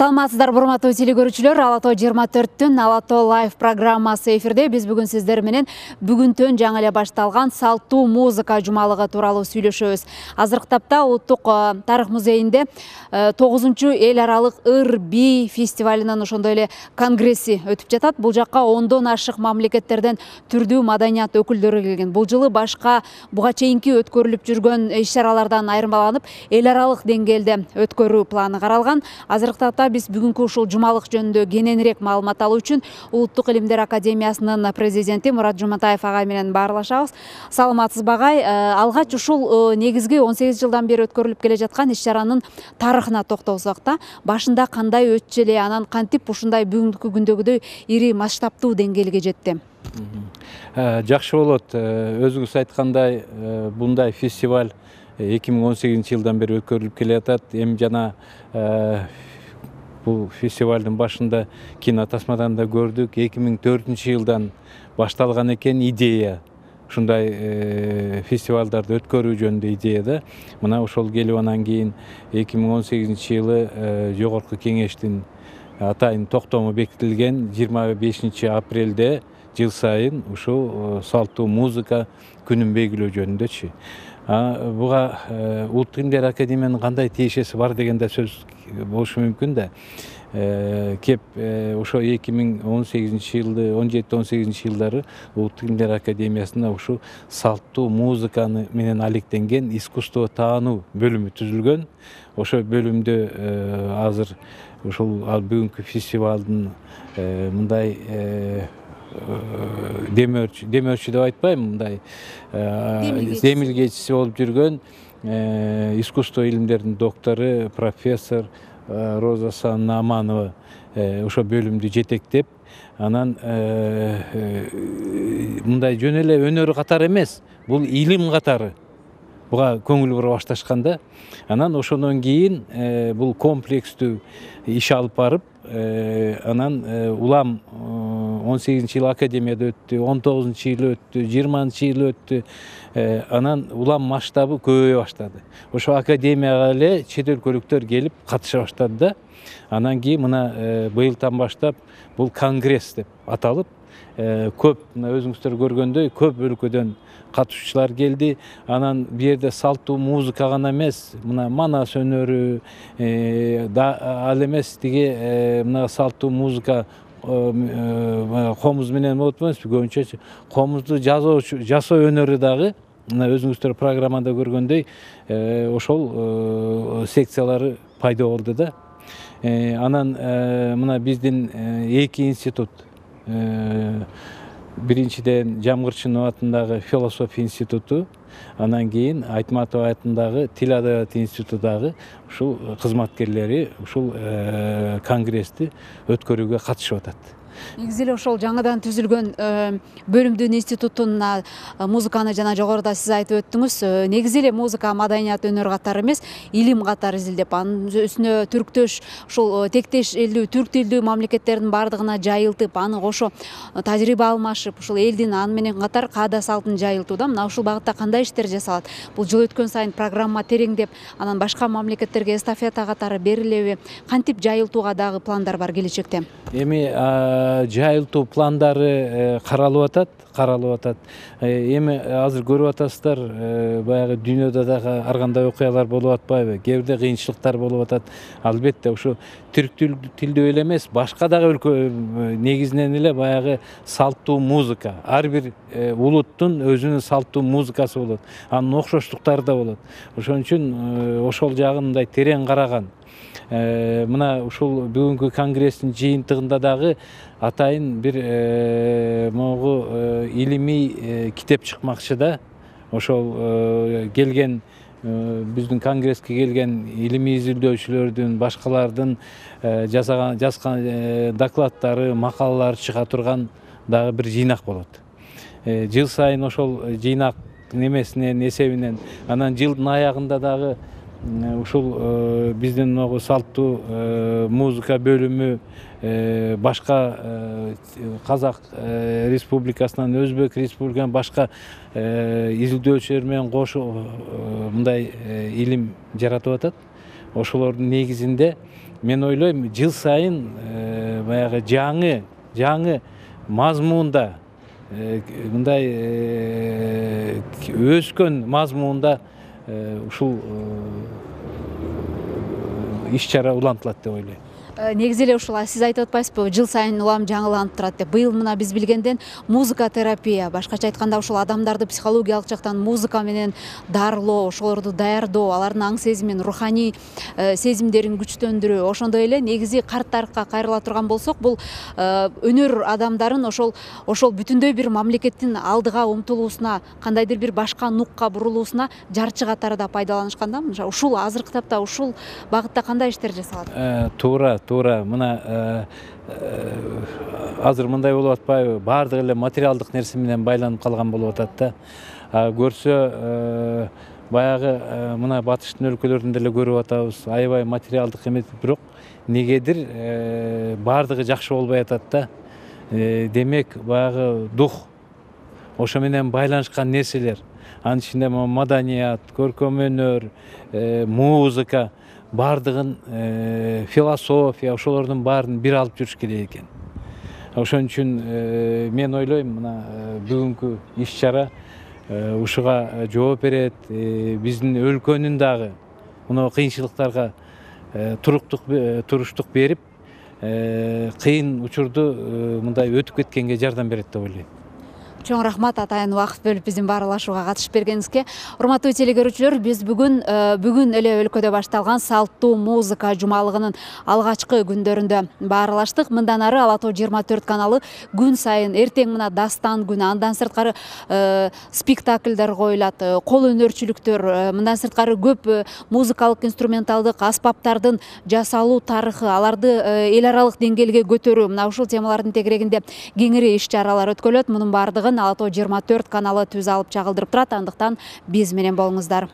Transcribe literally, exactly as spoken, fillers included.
Саламатсыздар, урматтуу телекөрүүчүлөр. Ала тоо жыйырма төрттүн Ала тоо лайв программасы эфирде. Биз бүгүн сиздер менен бүгүнтөн жаңы эле башталган салттуу музыка жумалыгы тууралуу сүйлөшөбүз. Азыркы тапта Улуттук тарых музейинде тогузунчу эл аралык ыр би фестивалынын ошондой эле конгресси өтүп жатат. Бул жакка ондон ашык мамлекеттерден түрдүү маданият өкүлдөрү келген. Бул жылы башка буга чейинки өткөрүлүп жүргөн иш-чаралардан айырмаланып, эл аралык деңгээлде өткөрүү планы каралган. Азыркы тапта биз бүгүнкү ушул жумалык жөнүндө кененирээк маалымат алуу үчүн Улуттук илимдер академиясынын президенти Мурат Жуматаев агай менен баарлашабыз. Саламатсызбы агай? Алгач ушул негизги он сегиз жылдан бери өткөрүлүп келе жаткан иш-чаранын тарыхына токтолсок да, башында кандай өтчү эле, анан кантип ушундай бүгүнкү күндөгүдөй ири масштабтуу деңгээлге жетти? Жакшы болот. Өзүңүз айткандай, мындай фестиваль эки миң он сегизинчи жылдан бери өткөрүлүп келе жатат. Эми жана бул фестивалдын башында кинотасмадан да көрдүк. эки миң төртүнчү жылдан башталган экен идея. Ушундай фестивалдарды өткөрүү жөнүндө идея да. Мына ошол келип анан кийин эки миң он сегизинчи жылы жогорку кеңештин атайын токтому бекитилген жыйырма бешинчи апрелде жыл сайын ушул салттуу музыка күнүн белгилөө жөнүндөчү. Буга Улуттук илимдер академиянын кандай тиешеси бар деген да сөз болушу мүмкүн да. Кеп ошо эки миң он сегизинчи жылды, он жети он сегизинчи жылдары Улуттук илимдер академиясында ушул салттуу музыканы менен алектенген искусство таануу бөлүмү түзүлгөн. Ошо бөлүмдө азыр ушул бүгүнкү фестивалдын мындай демөөрчү демөөрчү деп айтпайм, мындай демилгечиси болуп жүргөн искусство илимдеринин доктору профессор Роза Санна Аманова ошо бөлүмдү жетектеп, анан мындай жөн эле өнөр катары эмес, бул илим катары буга көңүл бура башташканда, анан ошондон кийин бул комплекстүү иш алып барып, анан улам он сегизинчи жыл академияда өттү, он тогузунчу жыл өттү, жыйырманчы жыл өттү. Анан улам масштабы көбөйө баштады. Ошо академияга эле чет өлкөлүктөр келип катыша баштады да. Анан кийин мына быйылдан баштап бул конгресс деп аталып, көп, мына өзүңүздөр көргөндөй, көп өлкөдөн катышуучулар келди. Анан бу жерде салттуу музыка гана эмес, мына манас өнөрү, ал эмес тиги мына салттуу музыка комуз менен болот эмеспи, көбүнчө комузду жасоочу, жасоо өнөрү дагы, мына өзүңүздөр программада көргөндөй, ошол секциялары пайда болду да. Анан мына биздин эки институт, биринчиден Жамгырчынов атындагы философия институту, анан кийин Айтматов атындагы тил адабият институту дагы ушул кызматкерлери ушул конгрессти өткөрүүгө катышып атат. Негизи эле ошол жаңыдан түзүлгөн бөлүмдүн институтуна музыканы жана жогоруда сиз айтып өттүңүз. Негизи эле музыка маданият өнөр катары эмес, илим катары изилдеп, анын үстүнө түрктөш, ушул тектеш элдүү, түрк тилдүү мамлекеттердин бардыгына жайылтып, аны кошо тажрыйба алмашып, ушул элдин аны менен катар каада салтын жайылтууда мына ушул багытта кандай иштер жасалат? Бул жыл өткөн сайын программа тереңдеп, анан башка мамлекеттерге эстафета катары берилеби? Кантип жайылтууга дагы пландар бар келечекте? Эми жайылтуу пландары каралып атат, каралып атат. Эми азыр көрүп атасыздар, баягы дүйнөдө дагы ар кандай окуялар болуп атпайбы? Кээ бирде кыйынчылыктар болуп атат. Албетте ушу түрк тилдүү эле эмес, башка дагы өлкө негизинен эле баягы салттуу музыка. Ар бир улуттун өзүнүн салттуу музыкасы болот. Анын окшоштуктары да болот. Ошон үчүн ошол жагын мындай терең караган. Мына ушул бүгүнкү конгресстин жыйынтыгында дагы атайын бир могу илимий китеп чыкмакчы да. Ошол келген биздин конгресске келген илимий изилдөөчүлөрдүн, башкалардын жасаган жазган докладдары, макалалары чыга турган дагы бир жыйнак болот. Жыл сайын ошол жыйнак немесинен, эсебинен, анан жылдын аягында дагы ушул биздин могу салттуу музыка бөлүмү башка Казак республикасынан, Өзбек республикасынан башка изилдөөчүлөр менен кошо мындай илим жаратып атат. Ошолордун негизинде мен ойлойм жыл сайын баягы жаңы жаңы мазмунда мындай өскөн мазмунда ушул иш чара улантылат деп ойлойм. Негизи эле ушул сиз айтып атпайсызбы, жыл сайын улам жаңыланып турат деп. Быйыл мына биз билгенден музыка терапия, башкача айтканда ушул адамдарды психологиялык жактан музыка менен дарылоо, ошолорду даярдоо, алардын аң сезимин, руханий сезимдерин күчтөндүрүү, ошондой эле негизи карт тарыхка кайрыла турган болсок, бул өнөр адамдарын ошол ошол бүтүндөй бир мамлекеттин алдыга умтулуусуна, кандайдыр бир башка нукка бурулуусуна жарчы катары да пайдаланышкан да. Ушул азыркы тапта ушул багытта кандай иштер жасалат? Туура туура мына азыр мындай болуп атпайбы, баардык эле материалдык нерсе менен байланып калган болуп атат да. Көрсө баягы мына батыштын өлкөлөрүндө эле көрүп атабыз, аябай материалдык эмес, бирок негедир баардыгы жакшы болбой атат да. Демек баягы дух, ошо менен байланышкан нерселер, анын ичинде маданият, көркөм өнөр, музыка, бардыгын философия, ошолордун баарын бир алып жүрүш керек экен. Ошон үчүн мен ойлойм, мына бүгүнкү иш чара ушуга жооп берет. Биздин өлкөнүн дагы мына кыйынчылыктарга туруштук берип, кыйын учурду мындай өтүп кеткенге жардам берет деп ойлойм. Чоң рахмат атайын убакыт бөлүп биздин баарлашууга катышып бергениңизге. Урматтуу телекөрүүчүлөр, биз бүгүн бүгүн эле өлкөдө башталган салттуу музыка жумалыгынын алгачкы күндөрүндө баарлаштык. Мындан ары Ала Тоо жыйырма төрт каналы күн сайын, эртең мына дастан күнү, андан сырткары спектакльдер коюлат, кол өнөрчүлүктөр, мындан сырткары көп музыкалык инструменталдык аспаптардын жасалуу тарыхы, аларды эл аралык деңгээлге көтөрүү, мына ушул темалардын тегерегинде кеңири иш чаралар өткөрүлөт. Мунун баардыгын Ала Тоо жыйырма төрт каналы түз алып чагылдырып турат. Андыктан биз менен болуңуздар.